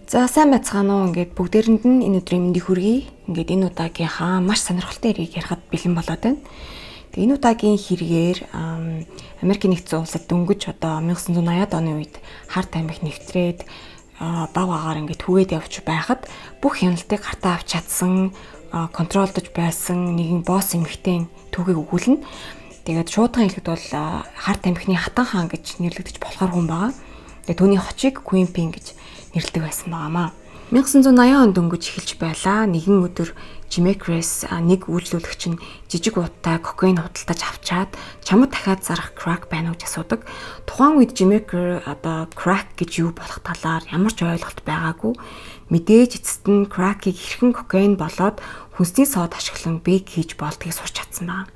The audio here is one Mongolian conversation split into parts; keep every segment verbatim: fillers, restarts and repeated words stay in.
За сайн байцгаана уу. Ингээд бүгдээрэнд нь энэ өдрийн мэндийг хүргэе. Ингээд энэ удаагийнхаа маш сонирхолтой хэргийг ярихад бэлэн болоод байна. Тэгээ энэ удаагийн хэрэгээр Америкийн нэгдсэн улсад дөнгөж одоо найман восемнад оны үед харт амих нэвтрээд баг агаар ингээд түгээд явж байхад бүх хяналтыг гартаа авч чадсан, контролдож байсан нэгэн босс эмэгтэй түүхийг өгүүлнэ. Тэгээд шуудхан хэлэхэд бол харт амихны хатан хаан гэж нэрлэгдэж болохоор хүн байгаа. Тэгээ түүний хочийг Queen Pin гэж нэрлэдэг байсан байнамаа. найман восемнад онд дөнгөж эхэлж байлаа. Нэгэн өдөр Жимекрес нэг үйлчлүүлэгч нь жижиг ууттай кокаин худалдаж авчаад чамд дахиад зарах crack байна уу гэж асуудаг. Тухайн үед Жимекер одоо crack гэж юу болох талаар ямар ч ойлголт байгаагүй. Мэдээж эцэст нь crack-ийг хэрхэн кокаин болоод хүнсний сод ашиглан бэг хийж болдгийг сурч чадсан байна.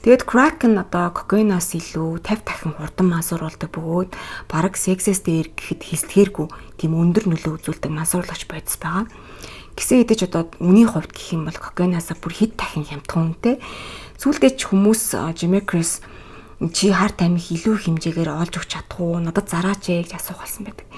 Тэгэд crack нь одоо кокаиноос илүү тавь дахин хурдан мансууруулдаг бөгөөд бараг сексэс дээр гэхэд хилтгээргүй тийм өндөр нөлөө үзүүлдэг мансууруулагч бодис байгаа. Гэсэн хэдиж одоо үний хувьд гэх юм бол кокаиноос бүр хэд дахин хямдхан үнэтэй. Сүүлдээ ч хүмүүс Жимекрес чи харт амих илүү хэмжээгээр олж өгч чадах уу? Надад зараач ээ гэж асуух болсон байдаг.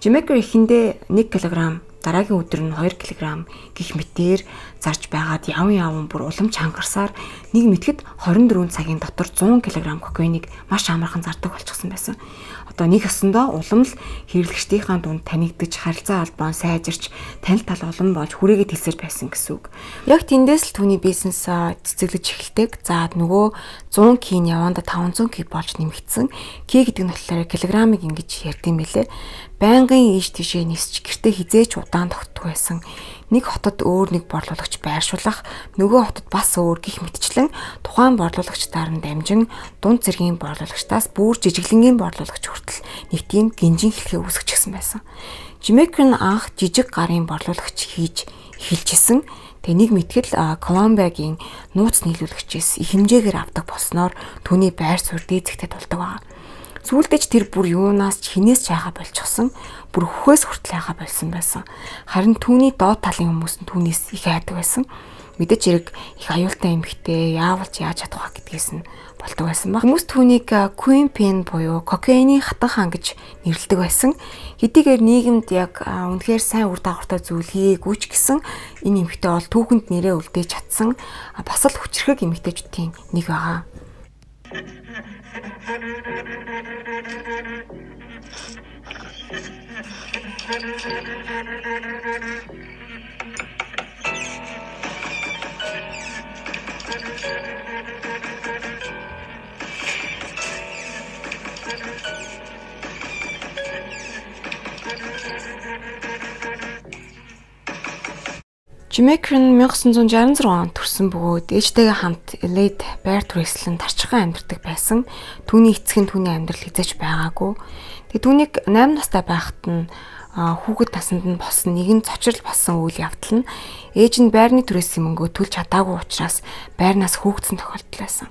Жимекер эхэндээ нэг килограмм, дараагийн өдөр нь хоёр килограмм гих мэтээр зарж байгаад явн явн бүр улам чангарсаар нэг мэтгэд хорин дөрвөн цагийн дотор зуун килограмм кокаиныг маш амархан зардаг болчихсон байсан. Одоо нэг өсөндөө улам л хэрэглэгчдийнхээ дунд танигдж харилцаа холбоо сайжирч танил тал улам болж хүрээгээ тэлсэр байсан гэсэн үг. Яг тэндээс л түүний бизнес цэцэглэж эхэлдэг. За нөгөө зуун кийн яванда таван зуун ки болж нэмэгдсэн. Ки гэдэг нь болохоор килограммыг ингэж ярьдсан мэлээ. Байнгын ийш тийшээ нисч гэртээ хизээч удаан тогтдог байсан. Нэг хотод өөр нэг борлуулагч байршуулах, нөгөө хотод бас өөр гих мэтчлэн тухайн борлуулагчдаар нь дамжин дунд зэргийн борлуулагчдаас бүр жижиглэнгийн борлуулагч хүртэл нэг тийм гинжин хэлхээ үүсгэчихсэн байсан. Жимекер нь анх жижиг гарын борлуулагч хийж эхэлжсэн. Тэгээ нэг мэтгэл Колумбиагийн нууц нийлүүлэгчээс их хэмжээгээр авдаг болсноор түүний байр суурь дээзэгтэй тулдаг байна. Сүүлдээ ч тэр бүр юунаас ч хинээс ч хайхаа болчихсон. Бүр хөхөөс хүртэл хайхаа болсон байсан. Харин түүний доод талын хүмүүс нь түүнээс их айдаг байсан. Мэдээж хэрэг их аюултай эмэгтэй яавалж яаж чадах вэ гэдгээс нь болдог байсан баг. Хүмүүс түүнийг Queen Pin буюу кокаины хатан хаан гэж нэрлэдэг байсан. Хэдийгээр нийгэмд яг үнэхээр сайн үр дагавартай зүйл хийгээгүй ч гэсэн энэ эмэгтэй бол түүхэнд нэрээ үлдээж чадсан бас л хүчрхэг эмэгтэйчүүдийн нэг байгаа. Жимекер нь найман восемнад шестьдесят шесть онд төрсэн бөгөөд ээжтэйгээ хамт Элейд байр түрээслэн тарчхан амьдардаг байсан. Түүний эцэг нь түүний амьдрал хязгаарч байгаагүй. Тэгээ түүнийг найман настай байхад нь хүүхэд насанд нь болсон нэгэн цочрол болсон үйл явдал нь ээж нь байрны түрээсийн мөнгөө төлж чадаагүй учраас байрнаас хөөгдсөн тохиолдол байсан.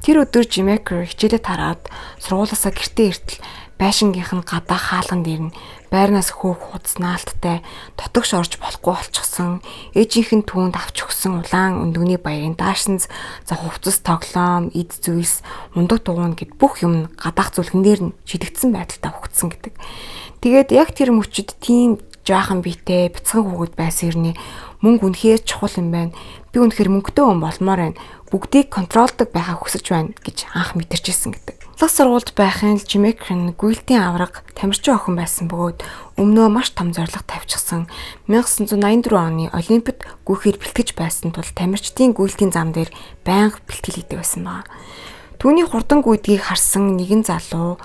Тэр өдөр Жимекер хичээлээ тараад сургуулиасаа гэртээ иртэл байшингийнх нь гадаа хаалган дээр нь байрнаас хөөх худаснаалттай дотогш орж болохгүй болчихсон. Ээжийнх нь түүнд авч өгсөн улаан өндөгний баярын даашинз, за хувцас, тоглоом, эд зүйлс, мундаг дугуйн гэд бүх юм гадаах зүлгэн дээр нь шидэгдсэн байдалтай өгцсөн гэдэг. Тэгээд яг тэр мөчөд тийм жаахан биетэй бяцхан хүүхэд байсан хэрнээ мөнгө үнэхээр чухал юм байна. Би үнэхээр мөнгөтэй хүн болмоор байна. Бүгдийг контролдог байхаа хүсэж байна гэж анх мэдэрчээсэн гэдэг. Лаг сургуульд байхын л Жимекер нь гүйлтийн авраг тамирчин охин байсан бөгөөд өмнөө маш том зорилго тавьчихсан. найман восемнад найман дөрвөн оны Олимпиад гүйхээр бэлтгэж байсан тул тамирчдын гүйлтийн зам дээр байнга бэлтгэл хийдэг байсан байна. Түүний хурдан гүйдгийг харсан нэгэн залуу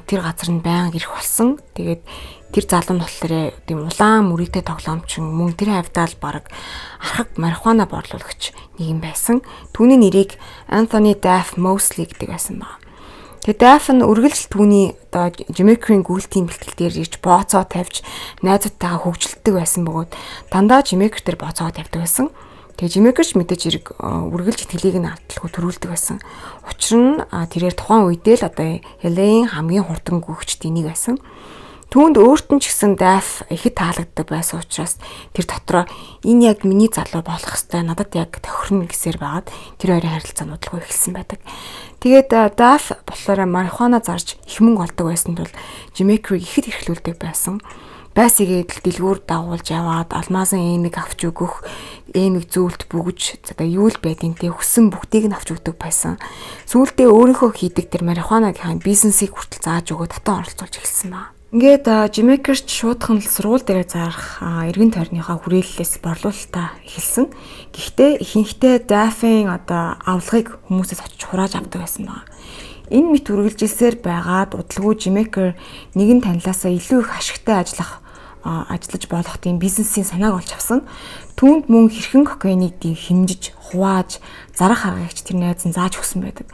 тэр газар нь байнга ирэх болсон. Тэгээд тэр залуу нь болохоор тийм улаан мөрийтэй тоглоомчин мөн тэр хавьдаал баг архаг марихуана борлуулагч нэг юм байсан. Түүний нэрийг Anthony Daff Mosley гэдэг байсан байна. Тэгээд Daff нь үргэлж түүний одоо Жимекерийн гүйлтийн бэлтгэл дээр ирж бооцоо тавьж найзуудтайгаа хөгжилддөг байсан бөгөөд дандаа Жимекер дээр бооцоо тавьдаг байсан. Тэгээ Жимекерч мэдээж хэрэг үргэлж итгэлийг нь алдлахгүй төрүүлдэг байсан. Учир нь тэрээр тухайн үедээ л одоо Л А-ийн хамгийн хурдан гүйгчдийн нэг байсан. Түүнд өөрт нь ч гэсэн Daff ихэд таалагддаг байсан учраас тэр дотроо энэ яг миний залуу болох хэвээр надад яг тохирно гэсээр байгаад тэр хоёрын харилцаа нудлахгүй эхэлсэн байдаг. Тэгээд Daff болохоор марихуана зарж их мөнгө олдог байсан тул Жимекерийг ихэд эрхлүүлдэг байсан. байсгээд дэлгүүр дагуулж яваад алмазын эмийг авч өгөх, эмийг зөвлөлт бүгж за юу л байдیں۔ Тэ хүссэн бүгдийг нь авч өгдөг байсан. Сүүлдээ өөрийнхөө хийдэг тэр марихуанагийнхаа бизнесийг хүртэл зааж өгөө татан оролцуулж эхэлсэн ба. Ингээд Жимекерч шуудхан л сургууль дээр зарах эргэн тойрныхаа хүрээллээс борлуулалтаа эхэлсэн. Гэхдээ ихэнхдээ Daffy-ийн одоо авлагыг хүмүүсээс очиж хурааж авдаг байсан байна. Энэ мэт үргэлжилсээр байгаад удалгүй Жимекер нэгэн танилаасаа илүү их ашигтай ажиллах ажиллаж болох тийм бизнесийн санааг олж авсан. Түүнд мөн хэрхэн кокаиныг хэмжиж, хувааж, зарах аргагч тэр найз нь зааж өгсөн байдаг.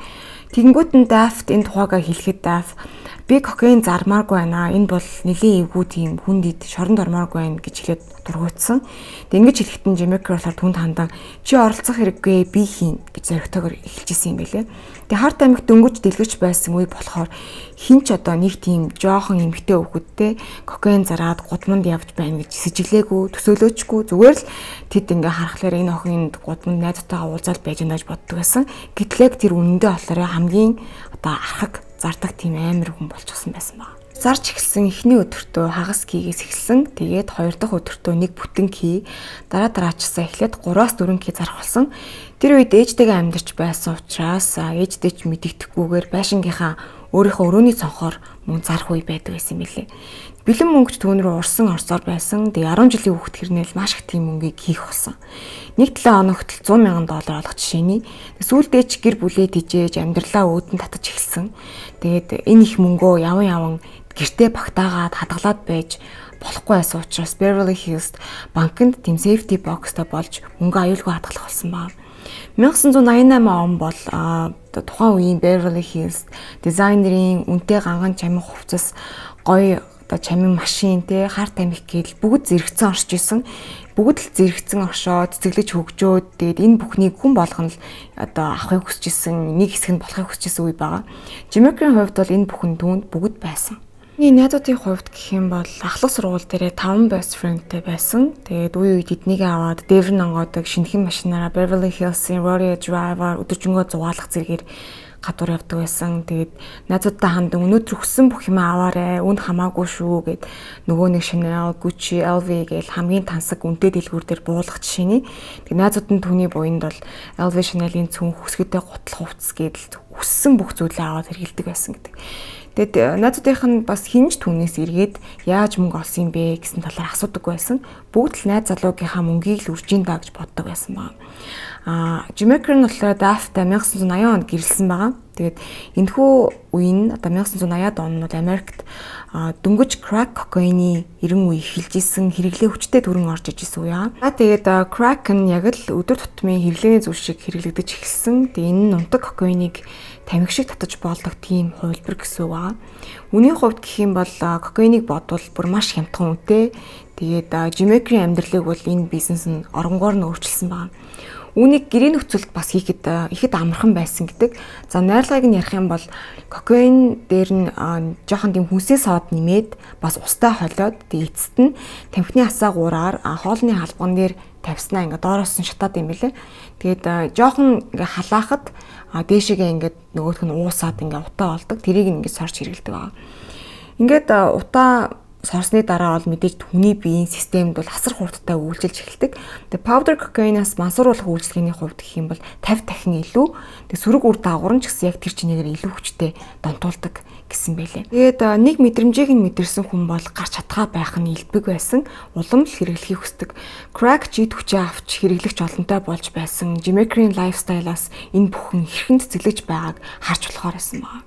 Тэгэнгүүт нь Daft энэ тухайгаа хэлэхэд Daft би кокаин зармааргүй байна. Энэ бол нэлийн эвгүй тийм хүнд ид шоронд ормооргүй байна гэж хэлээд дургуутсан. Тэг ингэж хэлэхэд нь Жимекер болохоор түнд хандан чи оролцох хэрэггүй би хийн гэж зоригтойгоор эхэлжсэн юм байлээ. Тэг харт амигт дөнгөж дэлгэж байсан үе болохоор хинч одоо нэг тийм жоохон эмгтэй хүүхэдтэй кокаин зараад гудамд явж байна гэж сэжиглээгүй, төсөөлөөчгүй зүгээр л тэд ингээ харахаар энэ охинд гудамд найзтайгаа уулзаад байж байна гэж боддог байсан. Гэтлэг тэр үнэндээ болохоор хамгийн одоо архаг зардаг тийм амар хүн болчихсон байсан баг. Зарч эхэлсэн эхний өдөртөө хагас кийгээс эхэлсэн. Тэгээд хоёр дахь өдөртөө нэг бүтэн кий, дараа дараачсаа эхлээд гураас дөрвөн кий зарах болсон. Тэр үед ээжтэйгээ амьдарч байсан учраас ээжтэй ч мэдэгдэхгүйгээр байшингийнхаа өөрийнхөө өрөөний цонхоор мөн зарах үе байдаг байсан юм билээ. Бэлэн мөнгөч түүн рүү урсан орсоор байсан. Тэгээ арван жилийн хүүхэд хэрнээл маш их тийм мөнгийг хийх болсон. Нэг талаа оногтол зуун мянган доллар олох жишээний. Сүүлдээ ч гэр бүлээ тижээж амьдралаа өөдөн татаж эхэлсэн. Тэгээд энэ их мөнгөө яван яван гэртээ багтаагаад хадгалаад байж болохгүй байсан учраас Beverly Hills банкнд тийм safety box-та болж мөнгө аюулгүй хадгалах болсон байна. найман восемьдесят восемь он бол тухайн үеийн Beverly Hills дизайнерын үнэтэй ганган чамин хувцас гоё одоо чамин машин те харт амих гээл бүгд зэрэгцэн орж исэн. Бүгд л зэрэгцэн оршоод цэцэглэж хөгжөөд тэгээд энэ бүхнийг хүн болгоно л одоо авахыг хүсэж исэн, нэг хэсэг нь болохыг хүсэж исэн үе байгаа. Жимекерийн хувьд бол энэ бүхэн түүнд бүгд байсан. Миний найзуудын хувьд гэх юм бол ахлах сургууль дээрээ таван best friendтэй байсан. Тэгээд үе үед эднийг аваад Devon онгоодог шинэхэн машинаараа Beverly Hills-ийн Rodeo Drive-аар өдөржингөө зугаалах зэргээр гадуур явдаг байсан. Тэгээд найзуудтай хандан өнөөдөр хүссэн бүх юм аваарэ, үнд хамаагүй шүү гэд нөгөө нэг Chanel, Gucci, L V гээл хамгийн тансаг үнэтэй дэлгүүр дээр буулгах жишээний. Тэгээд найзууд нь түүний буйнд бол L V Chanel-ийн цүн хүсгэдэй гутал хувцас гэдэл хүссэн бүх зүйлээ аваад хэрэгэлдэг байсан гэдэг. Тэгэд найзуудынх нь бас хинж түүнээс эргээд яаж мөнгө олсон юм бэ гэсэн талаар асуудаг байсан. Бүгд л найз залуугийнхаа мөнгийг л үржин даа гэж боддог байсан байна. А Жимекер нь болохоор Daft-тай найман восемьдесят онд гэрэлсэн байгаа. Тэгээд энэхүү үе нь одоо найман восемьдесят онууд Америкт дөнгөж crack кокаины эрен үе эхэлж исэн, хэрэглээ хүчтэй төрөн орж иж исэн үе аа. Тэгээд crack нь яг л өдөр тутмын хэрэглээний зүйл шиг хэрэглэгдэж эхэлсэн. Тэгээд энэ нь унтаг кокаиныг тамхи шиг татаж болдог тийм хувилбар гэсэн үг аа. Үүний хувьд гэх юм бол кокаиныг бодвол бүр маш хямдхан үнэтэй. Тэгээд Жимекерийн амьдралыг бол энэ бизнес нь оронгоор нь өөрчилсөн байна. Үүнийг гэрээ нөхцөлд бас хийхэд ихэд амархан байсан гэдэг. За найрлагыг нь ярих юм бол кокаин дээр нь жоохон тийм хүнсээ соод нэмээд бас устай холиод тэгээд эцэст нь тамхины асаа гураар хоолны халбган дээр тавьснаа ингээ доороос нь шатаад юм билэ. Тэгээд жоохон ингээ халаахад дээшээгээ ингээ нөгөөх нь уусаад ингээ утаа болдог. Тэрийг ингээ сорж хэрэгэлдэг байгаа. Ингээд утаа сорсны дараа бол мэдээж хүний биеийн системд бол асар хурдтай үйлчилж эхэлдэг. Тэгээ powder cocaine-аас мансууруулах үйлчилгээний хувьд гэх юм бол пятьдесят дахин илүү. Тэгээ сөрөг үр дагавар нь ч гэсэн яг тэр чинээгээр илүү хүчтэй донтуулдаг гэсэн байлээ. Тэгээд нэг мэдрэмжийг нь мэдэрсэн хүн бол гарч чадхаа байх нь илбэг байсан. Улам л хэрэглэхийг хүсдэг. Crack жид хүчээ авч хэрэглэгч олонтой болж байсан. Jimekерийн lifestyle-аас энэ бүхэн хэрхэн цэцэглэж байгааг харж болохоор байсан байна.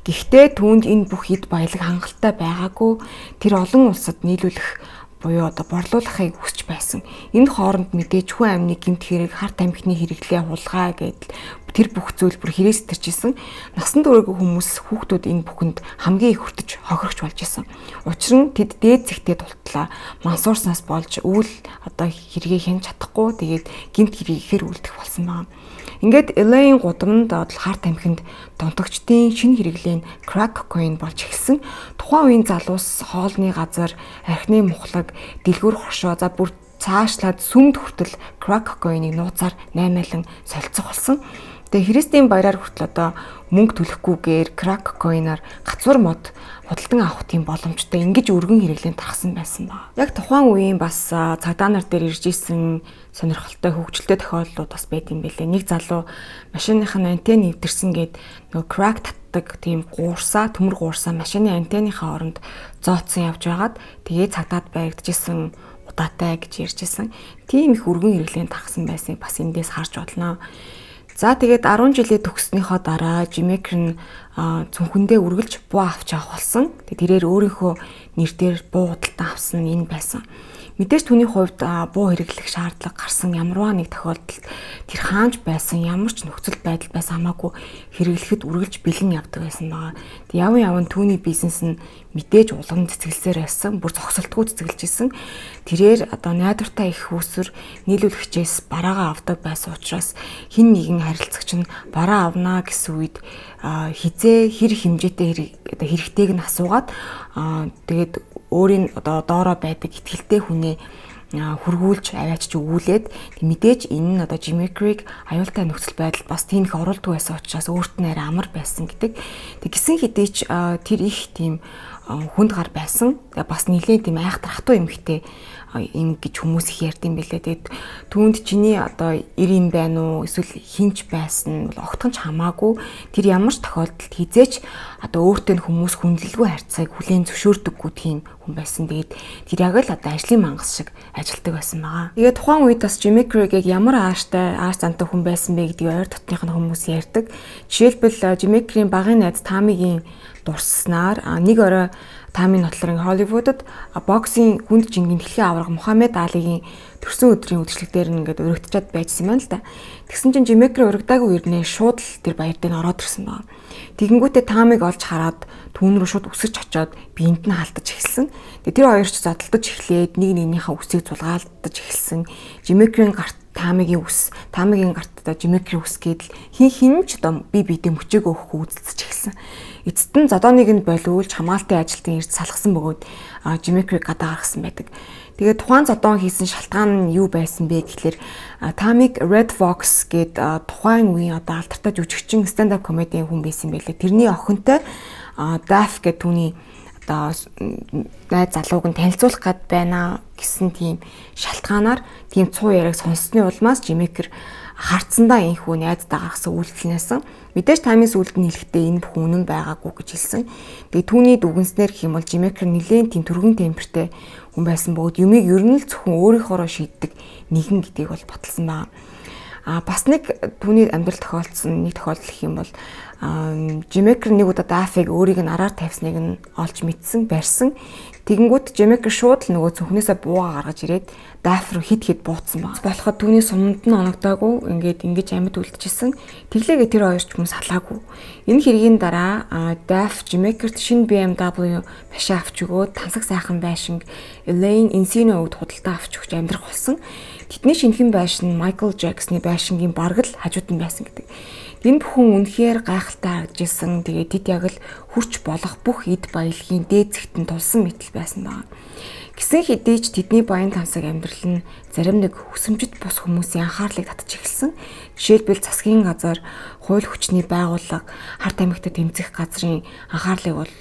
Гэхдээ түүнд энэ бүх ид баялаг хангалттай байгаагүй. Тэр олон улсад нийлүүлэх буюу одоо борлуулахыг хүсэж байсан. Энэ хооронд мэдээж хүн амны гэмт хэрэг, харт амхины хэрэглээ хулгай гэдэл тэр бүх зүйл бүр хэрэгс төрчихсэн. Насан туршаагүй хүмүүс хүүхдүүд энэ бүхэнд хамгийн их хүртэж хохирогч болж исэн. Учир нь тэд дээд зэгтээ тултлаа мансуурснаас болж үйл одоо хэрэгээ хянж чадахгүй тэгээд гэмт хэрэг ихээр үлдэх болсон байна. Ингээд Л А-ийн гудамд харт амхинд донтогчдын шинэ хэрэглээ нь crack cocaine болж эхэлсэн. Тухайн үеийн залуус хоолны газар, архины мухлаг, дэлгүүр хошоо за бүр цаашлаад сүмд хүртэл crack cocaine-ыг нууцаар наймаалан солилцох болсон. Тэгээ Христийн баяраар хүртэл одоо мөнгө төлөхгүйгээр crack cocaine-аар гацвар мод худалдан авах тийм боломжтой ингэж өргөн хэрэглэн тархсан байсан байна. Яг тухайн үеийн бас цагдаа нар дээр ирж исэн сонирхолтой хөгжилтэй тохиолдлууд бас байт юм бэлээ. Нэг залуу машиных нь антенн нэвтэрсэн гээд нөгөө crack татдаг тийм гуурсаа, төмөр гуурсаа машины антенныхаа оронд зооцсон явж байгаад тэгээ цагдаад баригдажсэн удаатай гэж ярьжсэн. Тийм их өргөн хэрэглэн тархсан байсныг бас эндээс харж болно. За тэгээд арван жилээ төгснөхийн дараа Жимейкер нь цүнхэндээ үргэлж буу авч авах болсон. Тэгээд тэрээр өөрийнхөө нэрээр буу худалдан авсан нь энэ байсан. Мэдээж түүний хувьд буу хэрэглэх шаардлага гарсан ямарваа нэг тохиолдолд тэр хаанч байсан ямар ч нөхцөл байдал байсан хамаагүй хэрэглэхэд үргэлж бэлэн явдаг байсан байгаа. Тэг яван яван түүний бизнес нь мэдээж улам цэцгэлсээр байсан, бүр зогсолтгүй цэцгэлж исэн. Тэрээр одоо найдвартай их усүр нийлүүлэгчээс бараагаа авдаг байсан учраас хин нэгэн харилцагч нь бараа авнаа гэсэн үед хизээ хэр хэмжээтэй хэрэгтэйг нь асуугаад тэгээд өөрийн одоо доороо байдаг итгэлтэй хүнээ хургуулж аваачч өгүүлээд мэдээж энэ нь одоо Жимейкерийг аюултай нөхцөл байдалд бас тийм их оруулдаг байсан учраас өөрт нь арай амар байсан гэдэг. Тэг гисэн хэдий ч тэр их тийм хүнд гар байсан. Бас нэлээд тийм айхтар хатуу эмхтэй юм гэж хүмүүс их ярьдсан байлээ. Тэгээд түүнд чиний одоо эр юм байна уу эсвэл хинч байсан бол огтхон ч хамаагүй тэр ямар ч тохиолдолд хизээч одоо өөртөө хүмүүс хүндлэлгүй харьцааг хүлээн зөвшөөрдөггүй тийм хүн байсан. Тэгээд тэр яг л одоо ажлын мангас шиг ажилтдаг байсан байгаа. Тэгээд тухайн үед бас Жимейкерийг ямар ааштай ааш зантай хүн байсан бэ гэдгийг ойр дотных нь хүмүүс ярьдаг. Жишээлбэл Жимейкерийн багын найз Тамигийн дурсснаар нэг орой Тамийн нотлорын Холливуудад боксing хүнд жингийн дэлхийн аварга Мухаммед Алигийн төрсөн өдрийн үдшилтээр ингээд өргөтчиад байжсэн байна л да. Тэгсэн чинь Жимейкер урагдаагүй ирнэ шууд л тэр баяр дээр ороод ирсэн байна. Тэгэнгүүтээ Тамиг олж хараад түүн рүү шууд үсэж очоод биенд нь халтаж эхэлсэн. Тэгээ тэр хоёр ч задалтаж эхлээд нэг нэгнийхээ үсийг зулгаалдаж эхэлсэн. Жимейкерийн гарт Тамигийн үс, Тамигийн гарт одоо Жимейкерийн үс гэдэл хин хин ч одоо би биедээ мөчөг өгөх үзэлцэж эхэлсэн. Эцэст нь зодооныг нь болиулж хамгаалтын ажилтан ирж салгасан бөгөөд Жимейкерийг гадаа гаргасан байдаг. Тэгээд тухайн зодоон хийсэн шалтгаан нь юу байсан бэ гэхэлэр Тамиг Red Fox гээд тухайн үеийн одоо алдартай жүжигчин stand-up comedy хүн байсан байлээ. Тэрний охинтой Daff гэдэг түүний одоо найз залууг нь танилцуулах гээд байна гэсэн тийм шалтгаанаар тийм цуу яриаг сонссны улмаас Жимейкер харцсандаа энхүү найздаа гаргасан үйлдэлнээс мэдээж Тамийн сүлд нь хэлэхдээ энэ бүх үнэн байгаагүй гэж хэлсэн. Тэгээ түүний дүгнснээр гэх юм бол Жимейкер нэлээд тийм түргэн темпертэй хүн байсан бөгөөд юмыг ер нь л зөвхөн өөрийнхоороо шийддэг нэгэн гэдгийг бол баталсан байна. А бас нэг түүний амьдрал тохиолдсон нэг тохиолдол гэх юм бол Жимейкер нэг удаа Даффиг өөрийг нь араар тавьсныг нь олж мэдсэн, барьсан. Тэгэнгүүт Жимейкер шууд л нөгөө цүнхнээсээ бууга гаргаж ирээд Дафф руу хид хид бууцсан баг. Болоход түүний суманд нь оногдоогүй ингээд ингэж амьд үлдчихсэн. Тэглээгээ тэр хоёр ч хүмүүс салаагүй. Энэ хэргийн дараа Дафф Жимейкерт шинэ би эм дабл ю машин авч өгөөд тансаг сайхан байшинг Elaine Encino өвд худалдаа авч өгч амьдрах болсон. Тэдний шинэхэн байшин Майкл Джексны байшингийн бараг л хажууд нь байсан гэдэг. Энэ бүхэн үнэхээр гайхалтай харагдажсэн. Тэгээд тэд яг л хүрч болох бүх эд баялагын дээд зэгтэн тулсан мэтэл байсан байна. Гисэн хэдий ч тэдний баян тансаг амьдрал нь зарим нэг хүсэмжит бус хүмүүсийн анхаарлыг татж эхэлсэн. Жишээлбэл засгийн газар, хууль хүчний байгууллага, Харт аймагт тэмцэх газрын анхаарлыг бол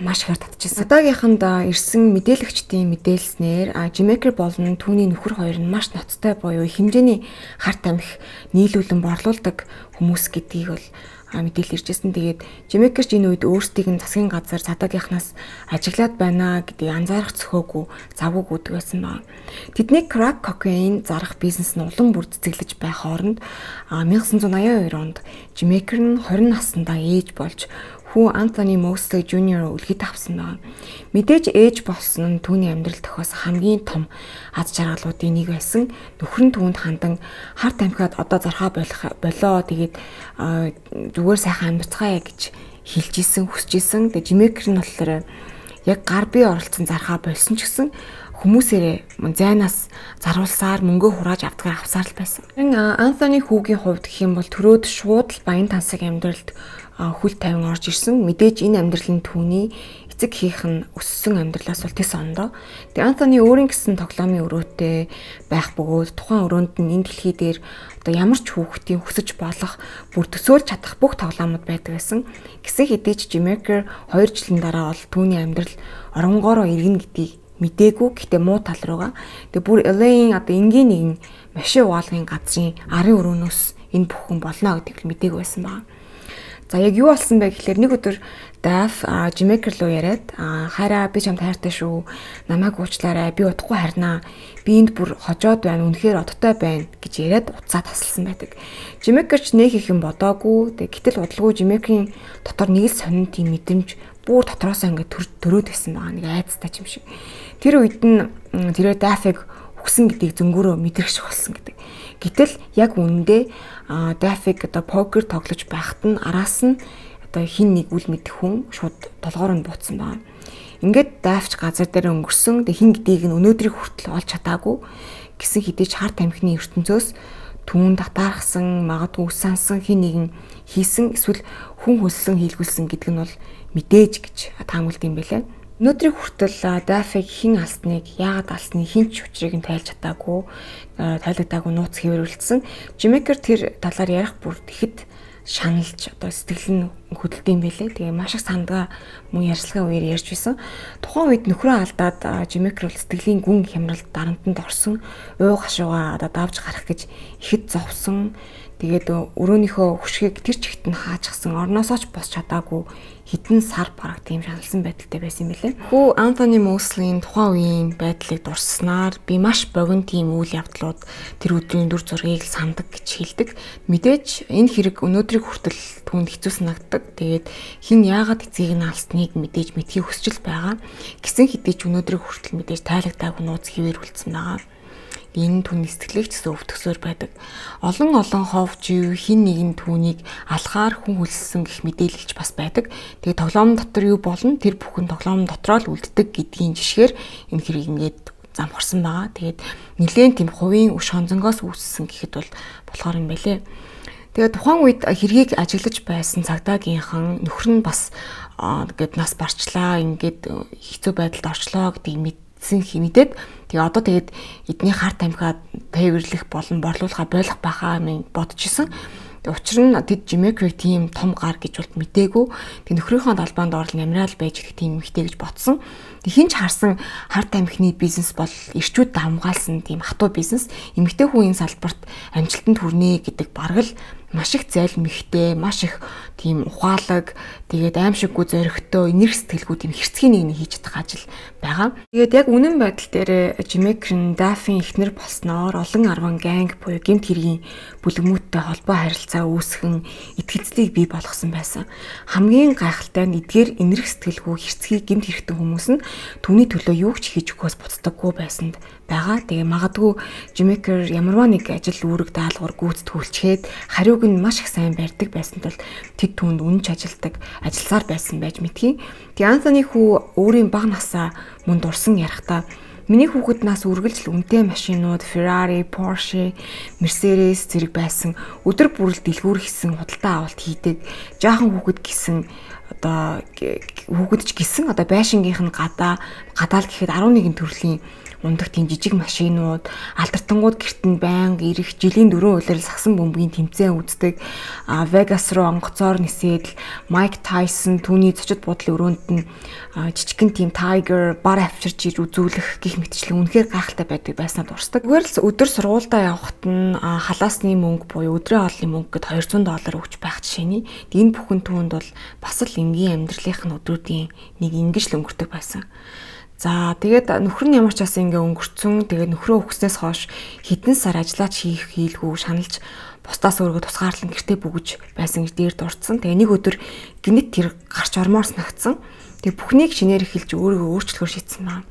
маш ихээр татчихсан. Одоогийнханд ирсэн мэдээлэгчдийн мэдээлснээр Жимейкер болон түүний нөхөр хоёр нь маш ноцтой буюу их хэмжээний Харт амих нийлүүлэн борлуулдаг хүмүүс гэдгийг бол мэдээлэл иржсэн. Тэгээд Жимейкер ч энэ үед өөрсдийг нь засгийн газар цадаагийнхнаас ажиглаад байна гэдгийг анзаарах цөхөөгүй завгүй өгдөг байсан байна. Тэдний crack cocaine зарах бизнес нь улам бүр цэцэглэж байх хооронд найман аян хоёр онд Жимейкер нь хорин наснда ээж болж хүү Антони Мослey Жуниор үлгэд авсан байна. Мэдээж ээж болсон нь түүний амьдрал тохиосон хамгийн том аз жаргалуудын нэг байсан. Нөхөр нь түүнд хандан Харт амхиад одоо зархаа болох болоо тэгээд зүгээр сайхан амьдцгаая гэж хэлж исэн, хүсэж исэн. Тэгээд Жимейкер нь болохоор яг гар бие оролцсон зархаа болсон ч гэсэн хүмүүсээрээ зайнаас заруулсаар мөнгө хурааж авдгаар авсаар л байсан. Антони хүүгийн хувьд гэх юм бол төрөөд шууд л баян тансаг амьдралд хүл тавин орж ирсэн. Мэдээж энэ амьдрал нь түүний эцэг хийх нь өссөн амьдралаас бол тис ондоо. Тэгээ Антони өөрийн гэсэн тоглоомын өрөөтэй байх бөгөөд тухайн өрөөнд нь энэ дэлхий дээр одоо ямар ч хүүхдийн хүсэж болох бүр төсөөлж чадах бүх тоглоомод байдаг байсан. Гэсэн хэдий ч Жимекер хоёр жилийн дараа бол түүний амьдрал оронгоороо иргэн гэдгийг мэдээгүй, гэхдээ муу тал руугаа. Тэгээ бүр Эл Эй-ийн одоо энгийн нэгэн машин угаалгын газрын арын өрөөнөөс энэ бүхэн болно гэдгийг л мэдээгүй байсан байна. За яг юу болсон бэ гэхээр нэг өдөр Даф Жимекер руу яриад хараа би чамд хайртай шүү. Намайг уучлаарай. Би удахгүй харнаа. Би энд бүр хожоод байна. Үнэхээр одтой байна гэж яриад уцаа тасалсан байдаг. Жимекер ч нэг их юм бодоогүй. Гэтэл удалгүй Жимекерийн дотор нэг л сонин тийм мэдрэмж бүр дотроосоо ингээд төрөөд байсан байгаа. Нэг айцтай юм шиг. Тэр үед нь тэрөө Дафыг өгсөн гэдгийг зөнгөөрөө мэдрэх болсон гэдэг. Гэтэл яг үүндээ Дафыг одоо покер тоглож байхад нь араас нь одоо хин нэг үл мэдэх хүн шууд толгоор нь буутсан байна. Ингээд Дафч газар дээр өнгөрсөн. Тэг хин гэдгийг нь өнөөдрийг хүртэл олж чадаагүй гэсэн хэдий ч харт амхины ертөнцөөс түүн татаархсан, магадгүй үсансан хин нэгэн хийсэн эсвэл хүн хөлсөн хийлгүүлсэн гэдэг нь бол мэдээж гэж таамаглад юм байлаа. Өнөөдрийг хүртэл Дафыг хин алсныг, яагаад алсныг хин ч учрыг нь тайлж чадаагүй, тайлагдаагүй нууц хэвэрүүлсэн. Жимекер тэр талаар ярих бүр тэгэхэд шаналж одоо сэтгэл нь хөдөлдөг юм байлээ. Тэгээ маш их сандгаа мөн ярьцлагын үеэр ярьж байсан. Тухайн үед нөхрөө алдаад Жимекер бол сэтгэлийн гүн хямралд дарамтанд орсон, ууг хашуугаа одоо давж гарах гэж ихэд зовсон. Тэгээд өрөөнийхөө хөшгийг тэр чигт нь хаачсан, орноосоо ч босч чадаагүй хитэн сар бараг тийм шаналсан байдалтай байсан юм билээ. Хүү Антони Мослигийн тухайн үеийн байдлыг дурсснаар би маш богино тийм үйл явдлууд тэр өдрийн дүр зургийг сандаг гэж хэлдэг. Мэдээж энэ хэрэг өнөөдрийг хүртэл түүнд хэцүү санагддаг. Тэгээд хин яагаад эцгийг нь алсныг мэдээж мэдхийг хүсэж байгаа. Гэсэн хэдий ч өнөөдрийг хүртэл мэдээж тайлагдаагүй нууц хэвээрүүлсэн байгаа. Энэ түүний сэтгэлийг ч өвтгсөөр байдаг. Олон олон хов жив хин нэгэн түүнийг алхаар хүн хөлссөн гэх мэдээлэлч бас байдаг. Тэгээ тоглоом дотор юу болно тэр бүхэн тоглоом дотроо л үлддэг гэдгийн жишгээр энэ хэрэг ингээд замхарсан байгаа. Тэгээд нэлээд тийм хувийн өш хонзонгоос үүссэн гэхэд бол болохоор юм байлээ. Тэгээд тухайн үед хэргийг ажиглаж байсан цагдаагийнхан нөхөр нь бас ингээд нас барчлаа, ингээд хэцүү байдалд орчлоо гэдгийг мэд мэдээд тэгээ одоо тэгээд эдний харт амхиад тээвэрлэх болон борлуулахаа болох байхаа минь бодож исэн. Учир нь тэд Жимекерийг тийм том гар гэж бол мэдээгүй. Тэг нөхрийнхөө талбаанд орол амраал байж гэх тийм эмхтэй гэж бодсон. Тэг хинч харсан харт амхины бизнес бол эрчүүд хамгаалсан тийм хатуу бизнес. Эмхтэй хүн энэ салбарт амжилтанд хүрнэ гэдэг бараг л маш их зайл мэгтэй, маш их тийм ухаалаг, тэгээд аимшиггүй зоригтой, энерги сэтгэлгүй тийм хэрцгий нэг нь хийж чадах ажил байгаа. Тэгээд яг үнэн байдал дээр Жимекер Дафийн эхнэр болсноор олон арван ганг буюу гэмт хэргийн бүлгэмүүдтэй холбоо харилцаа үүсгэн итгэлцлийг бий болгосон байсан. Хамгийн гайхалтай нь эдгээр энерги сэтгэлгүй хэрцгий гэмт хэрэгтэй хүмүүс нь түүний төлөө юу ч хийж өгөхөөс буцдаггүй байсанд байгаа. Тэгээ магадгүй Жимекер ямарваа нэг ажил үүрэг даалгавар гүйцэтгүүлчихэд хариуг нь маш их сайн барьдаг байсан тул тэд түүнд үнэнч ажилдаг, ажилласаар байсан байж мэдхий. Тэгээ Антони хүү өөрийн бага насаа мөн дурсан ярихдаа миний хүүхэд нас үргэлжил үнэтэй машинууд, Ferrari, Porsche, Mercedes зэрэг байсан. Өдөр бүрэл дэлгүүр хийсэн худалдаа авалт хийдэг. Жаахан хүүхэд гисэн одоо хүүхэд ч гисэн одоо байшингийнх нь гадаа гадаал гэхэд арван нэгэн төрлийн ундаг тийм жижиг машинууд, алдартангууд гэрт нь байнга ирэх, жилийн дөрөв улирал сагсан бөмбөгийн тэмцээн үздэг, Вегас руу онгоцоор нисээд Майк Тайсон түүний зочид буудлын өрөөнд нь жижигхэн тийм Tiger бар авчирч иж үзүүлэх гих мэтчлэн үнэхээр гайхалтай байдаг байснаа дурсдаг. Зүгээр л өдөр сургуультай явхад нь халаасны мөнгө буюу өдрийн хоолны мөнгө гэд двести доллар өгч байх жишээний. Энэ бүхэн түүнд бол бас л энгийн амьдралынх нь өдрүүдийн нэг ингэж л өнгөрдөг байсан. За тэгээд нөхөр нь ямар ч бас ингээ өнгөрцөн тэгээд нөхрөө өгснээс хойш хэдэн сар ажиллаач хийх хийлгүй шаналж бусдаас өөргөө тусгаарлан гэртээ бүгж байсан гэж дээр дурдсан. Тэгээ нэг өдөр гинэт тэр гарч ормоор санагдсан. Тэгээ бүхнийг шинээр эхэлж өөрийгөө өөрчлөхөр шийдсэн байна.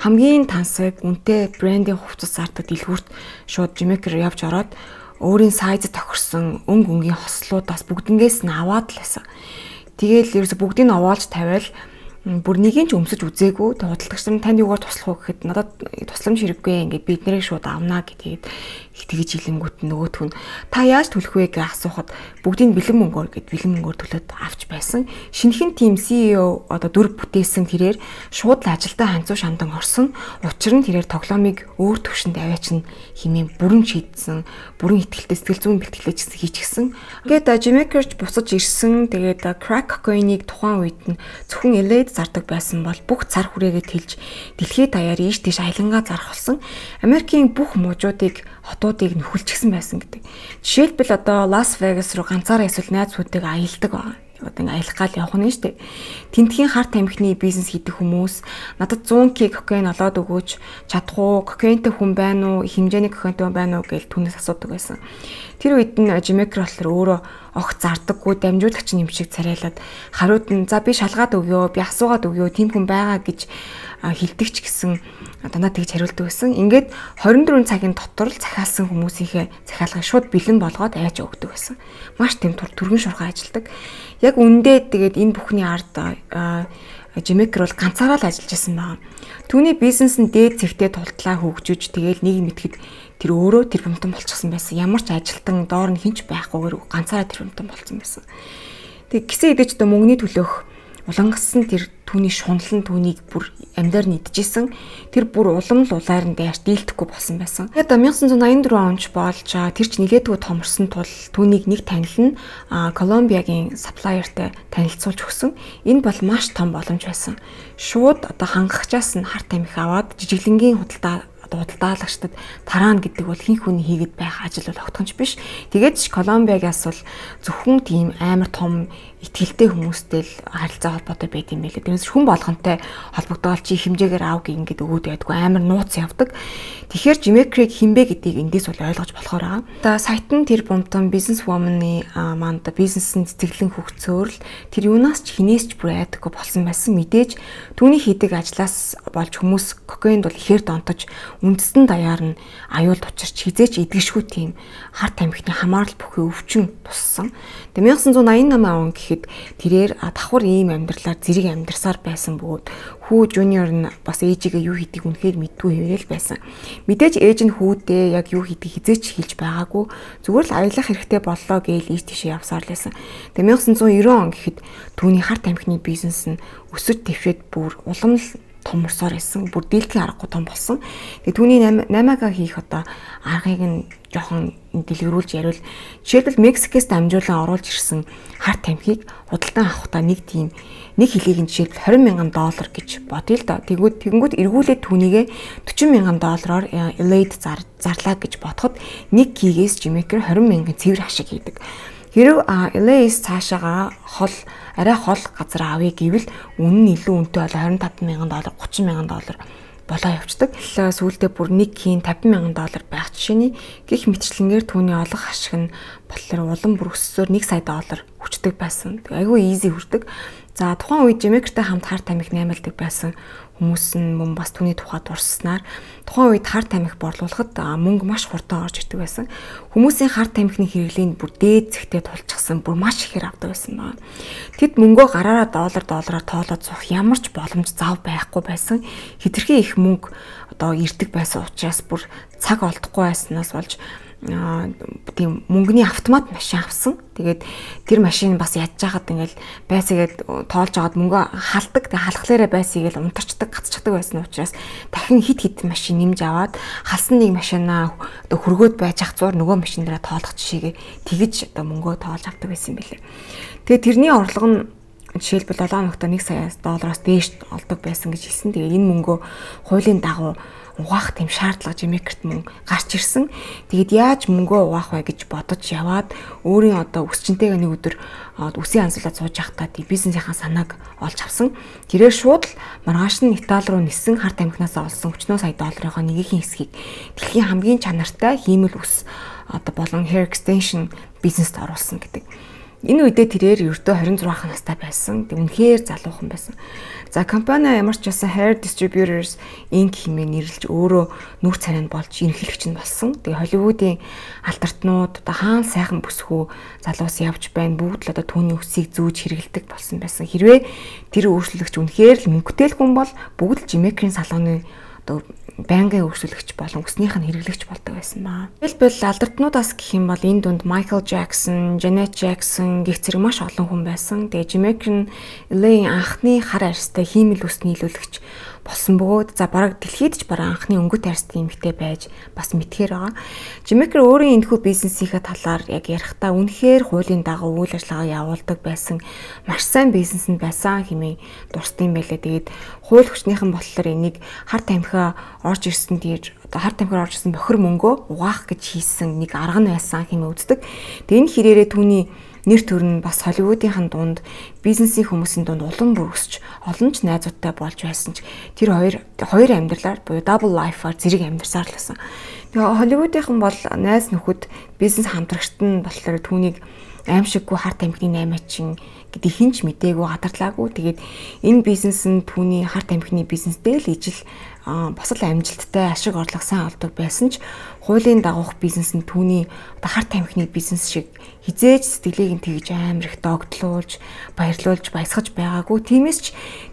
Хамгийн тансаг үнэтэй брендийн хувцас зардаг дэлгүүрт шууд Жимекер явж ороод өөрийн сайзд тохирсон өнг өнгийн хослуудаас бүгднгээс нь аваад л байсан. Тэгээл ерөөсө бүгдийг нь овоолж тавиал бүр нэгийг ч өмсөж үзээгүй. Тэгээ худалдагч нар танд юугаар туслах вэ гэхэд надад тусламж хэрэггүй ингээд бид нарыг шууд авнаа гэдгийг тэгж хэлэнгүүт нөгөөх нь та яаж төлөх вэ гэж асуухад бүгдийг бэлэн мөнгөөр гэд бэлэн мөнгөөр төлөөд авч байсан. Шинэхэн тим си и о одоо дүрэг бүтээсэн тэрээр шууд л ажилдаа ханцуу шандан орсон. Учир нь тэрээр тоглоомыг өөр төвшөнд аваач нь химээ бүрэн шийдсэн, бүрэн ихтгэлтэй сэтгэл зүйн бэлтгэлээ хийчихсэн. Ингээд Jamaica-ч буцаж ирсэн. Тэгээд crack cocaine-ыг тухайн үед нь зөвхөн Л А-д зардаг байсан бол бүх цар хүрээгээ тэлж дэлхийд даяар ийш тийш аялангаа зарах болсон. Америкийн бүх мужуудыг хотуудыг нөхөлчихсэн байсан гэдэг. Жишээлбэл одоо Лас Вегас руу ганцаараа эсвэл найзуудыг аялдаг байгаа. Одоо ингээ аялах гал явах нь шүү дээ. Тентхийн харт тамхины бизнес хийдэг хүмүүс надад one hundred кг кокаин олоод өгөөч чадах уу? Кокаинтай хүн байна уу? Хэмжээний кокаинтай хүн байна уу гэж түүнээс асуудаг байсан. Тэр үед нь Jamaica болохоор өөрөө огт зардаггүй дамжуулагч нэмшиг царайлаад хариуд нь за би шалгаад өгөө, би асуугаад өгөө, тийм хүн байгаа гэж хилдэгч гэсэн дандаа тэгж хариулдаг байсан. Ингээд twenty four цагийн дотор л захиалсан хүмүүсийнхээ захиалгыг шууд бэлэн болгоод айж өгдөг байсан. Маш тэм түргэн шурхаа ажилдаг. Яг үндэ тэгээд энэ бүхний ард Jamaica бол ганцаараа л ажиллаж байсан байна. Түүний бизнес нь дээд зэгтээ тултлаа хөгжиж тэгээд нэг мэтгэд тэр өөрөө тэр бомтон болчихсон байсан. Ямар ч ажилтан доор нь хинч байхгүйгээр ганцаараа тэр бомтон болсон байсан. Тэг гисэн идэж одоо мөнгөний төлөөх улангассан тэр түүний шунлан түүнийг бүр амьдаар нийтжсэн. Тэр бүр улам л улаар нь даяарч дийлдэхгүй болсон байсан. Тэгээд nineteen eighty-four онч болж тэр ч нилээдгүй томорсон тул түүнийг нэг танил нь Колумбиагийн сапплайертай танилцуулж өгсөн. Энэ бол маш том боломж байсан. Шууд одоо хангахчаас нь харт тамхи аваад жижиглэнгийн худалдаа худалдаалагчдад тараана гэдэг бол хин хүний хийгээд байх ажил бол огтхонч биш. Тэгээд ч Колумбиагаас бол зөвхөн тийм амар том итгэлтэй хүмүүстэй л харилцаа холбоотой байд юм байлээ. Тэрнээс хүн болгонтэй холбогдоод чи хэмжээгээр аав гингээд өгөөд байдгүй амар нууц явдаг. Тэгэхээр Jamaica-г хинбэ гэдгийг эндээс бол ойлгож болохоор байгаа. Одоо сайт нь тэр бомтон бизнес вуманы манд бизнесийн цэцэглэн хөгцөөр л тэр юунаас ч хинээс ч бүр айдаггүй болсон байсан. Мэдээж түүний хийдэг ажлаас болж хүмүүс кокаинд бол ихээр донтож үндэстэн даяар нь аюул тучирч хизээч идэгшгүй тийм харт тамхины хамаарал бүхий өвчин туссан. Тэгээ nineteen eighty-eight он гэхэд тэрээр давхар ийм амьдралаар зэрэг амьдарсаар байсан бөгөөд хүү жуниор нь бас ээжигээ юу хийдгийг үнэхээр мэдгүй хэвээрэл байсан. Мэдээж ээж нь хүүдээ яг юу хийдгийг хизээч хэлж байгаагүй. Зүгээр л аялах хэрэгтэй боллоо гээл ийш тийшээ явсаар л байсан. Тэгээ nineteen ninety он гэхэд түүний харт тамхины бизнес нь өсөж дэвшээд бүр улам л томорсоор байсан. Бүр дийлдэхин аргагүй том болсон. Тэгээ түүний eight-га хийх одоо аргыг нь жоохон дэлгэрүүлж яриул. Жишээлбэл Мексикээс дамжуулан оруулж ирсэн харт тамхиг худалдан авахдаа нэг тийм нэг хилийг нь жишээлбэл twenty thousand доллар гэж бодъё л доо. Тэгвэл тэгэнгүүт эргүүлээд түүнийгээ forty thousand доллараар Л А-д зарлаа гэж бодоход нэг кигээс Jamaica twenty thousand цэвэр хашиг хийдэг. Хэрв Л А-с цаашаага хол арай хол газар авъя гэвэл үнэн нь илүү үнэтэй бол twenty-five thousand доллар, thirty thousand доллар болоо явцдаг. Сүүлдээ бүр нэг хийн fifty thousand доллар байх жишээний гих мэтчлэнгээр түүний олох хашиг нь болохоор улам бүр өссөөр one сая доллар хүчдэг байсан. Айгүй easy хүрдэг. За тухайн үед Jamaica-тай хамт харт тамхи наймалдаг байсан хүмүүс нь мөн бас түүний тухай дурсснаар тухайн үед харт тамхи борлуулахад мөнгө маш хурдан орж ирдэг байсан. Хүмүүсийн харт тамхины хэрэглэнд бүр дээд зэгтээ тулчихсан, бүр маш ихээр авдаг байсан байна. Тэд мөнгөө гараараа доллар доллараар тоолоод суух ямар ч боломж зав байхгүй байсан. Хэтэрхий их мөнгө одоо ирдэг байсан учраас бүр цаг олдохгүй байснаас болж тийм мөнгөний автомат машин авсан. Тэгээд тэр машин бас ядж хахад ингээл байсгээд тоолж агаад мөнгө халдаг. Тэгээд халахлаараа байсгээл унтарчдаг, гацчихдаг байсан учраас дахин хит хит машин нэмж аваад халсан нэг машинаа одоо хөргөөд байж ах зур нөгөө машин дээрээ тоолох жишээгээ тэгж одоо мөнгөө тоолж авдаг байсан юм билээ. Тэгээд тэрний орлого нь жишээлбэл seven ногтой one сая доллараас дээш олдог байсан гэж хэлсэн. Тэгээд энэ мөнгөө хуулийн дагуу угаах тийм шаардлага Jamaica-т мөн гарч ирсэн. Тэгэд яаж мөнгөө угаах вэ гэж бодож яваад өөрийн одоо өсчөнтэйгээ нэг өдөр үсийн ансуулаад сууж явахдаа тийм бизнесийнхаа санааг олж авсан. Тэрээр шууд л маргааш нь Итали руу нисэн харт тамхинаас олсон forty сая долларынхаа нэгэн хэсгийг дэлхийн хамгийн чанартай хиймэл ус одоо болон hair extension бизнест оруулсан гэдэг. Энэ үедээ тэрээр ердөө хорин зургаах настай байсан. Тэг үнэхээр залуухан байсан. За компани ямар ч байсан Hair Distributors Incorporated хэмээн нэрлэж өөрөө нүүр царайнд болж ерөнхийлөгч нь болсон. Тэгээ Холливуудын алдартнууд одоо хаан сайхан бүсгүй залуус явж байна. Бүгд л одоо түүний өсийг зүүж хэрэгэлдэг болсон байсан. Хэрвээ тэр өөрчлөлөгч үнэхээр л мөнгөтэй хүн бол бүгд л Жимекрийн салууны одоо байнгын өөрчлөлөгч болон өснийх нь хэрэглэгч болдог байсан баа. Хэлбэл алдартнуудаас гэх юм бол энэ дунд Michael Jackson, Janet Jackson гэх зэрэг маш олон хүн байсан. Тэгээ Жимекрийн Л А-ийн анхны хар арьстай хиймэл ус нийлүүлэгч болсон бөгөөд за бараг дэлхийд ч бараг анхны өнгөт арьстай эмэгтэй байж бас мэдхээр байгаа. Жимекер өөрийн энэхүү бизнесийнхээ талаар яг ярихдаа үнэхээр хуулийн дагуу үйл ажиллагаа явуулдаг байсан, маш сайн бизнес нь байсан хэмээн дурсдаг юм байлээ. Тэгээд хууль хүчнийхэн болохоор энийг хар тамхиа орж ирсэн дээр одоо хар тамхиар орж ирсэн бохир мөнгөө угаах гэж хийсэн нэг арга нь байсан хэмээн үздэг. Тэгээд энэ хэрээрээ түүний нэр төр нь бас Холливуудынхан дунд бизнесийн хүмүүсийн дунд улам бүр өсч олон ч найзуудтай болж байсан ч тэр хоёр хоёр амьдралаар буюу double life-аар зэрэг амьдарсаар л байсан. Тэгээ Холливуудынхан бол найз нөхөд бизнес хамтрагчт нь болохоор түүнийг аимшиггүй хар тамхины наймаачин гэдэг хинч мдээгүй гадарлаагүй. Тэгээд энэ бизнес нь түүний хар тамхины бизнестэй л ижил бас л амжилттай ашиг орлого сайн олдог байсан ч хуулийн дагуух бизнес нь түүний одоо хар тамхины бизнес шиг хизээж сэтгэлийг нь тэгж амар их догтлуулж, баярлуулж, баясгаж байгаагүй. Тиймээс ч